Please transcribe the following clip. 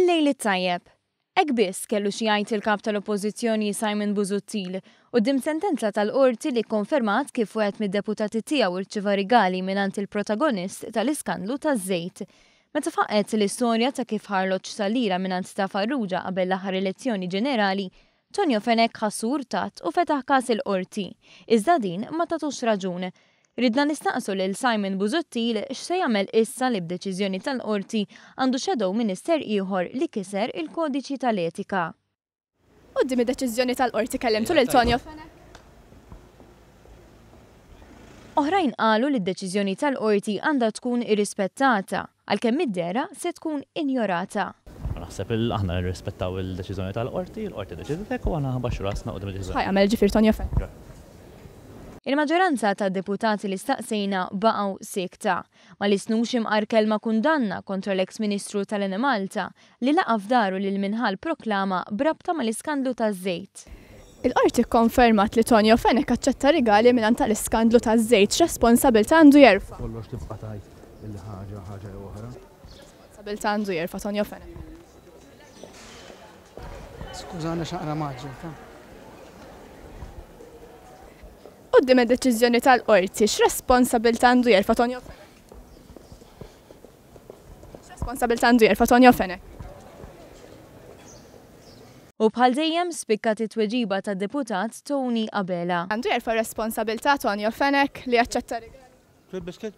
Il-lejl it-tajjeb. Hekk biss kellu xi jgħid il-Kap tal-Oppożizzjoni Simon Busuttil quddiem sentenza tal-Qorti li kkonfermat kif wieħed mid-deputati tiegħu rċieva rigali mingħand il-protagonist tal-iskandlu taż-żejt. Meta faqqgħet l-istorja ta' kif ħa arloġġ tal-lira mingħand ta' Farrugia qabel l-aħħar elezzjoni ġenerali, Tonio Fenech ħassu urtat u fetaħ każ il-Qorti. Iżda din ma tatux raġun. Ridna nistaqsu lil Simon Busuttil x'se jagħmel issa li b'deċiżjoni tal-Qorti għandu shadow minister ieħor li kiser il-kodiċi tal-etika. Quddiem id-deċiżjoni tal-Qorti kellimtu lil Tonio Fenech? Oħrajn qalu li d-deċiżjoni tal-Qorti għandha tkun irrispettata, għalkemm mid-dehra se tkun injorata. Naħseb il aħna nirrispettaw il-deċiżjoni tal-Qorti, il-Qorti ddeċidiet hekk u aħna nbaxxu rasna quddiem id-deċiżjoni. X'ħa jagħmel ġifieri Tonio Fenech? Il-maġġoranza tad-deputati li staqsejna baqgħu siekta. Ma lissnux imqar kelma kundanna kontra l-eks Ministru tal-Enemalta li laqa' f'daru lil min ħa l-proklama b'rabta mal-iskandlu taż-żejt. Il-Qorti kkonfermat li Tonio Fenech aċċetta rigali mingħand tal-iskandlu taż-żejt, x'responsabilità għandu jerfa'? Kollox tibqa' tgħid illi ħaġa ħaġa jew oħra. X'responsabilità għandu jerfa' Tonio Fenech? Skużani għax naqra mgħaġġel, ta. Quddiem id-deċiżjoni tal-Qorti, x'responsabilità għandu jerfa' Tonio Fenech? X'responsabilità għandu jerfa' Tonio Fenech? U bħal dejjem spikkat it-tweġiba tad-Deputat Tony Abela. Għandu jerfa' r-responsabilità Tonio Fenech li aċċetta rigali? Fil-biskit?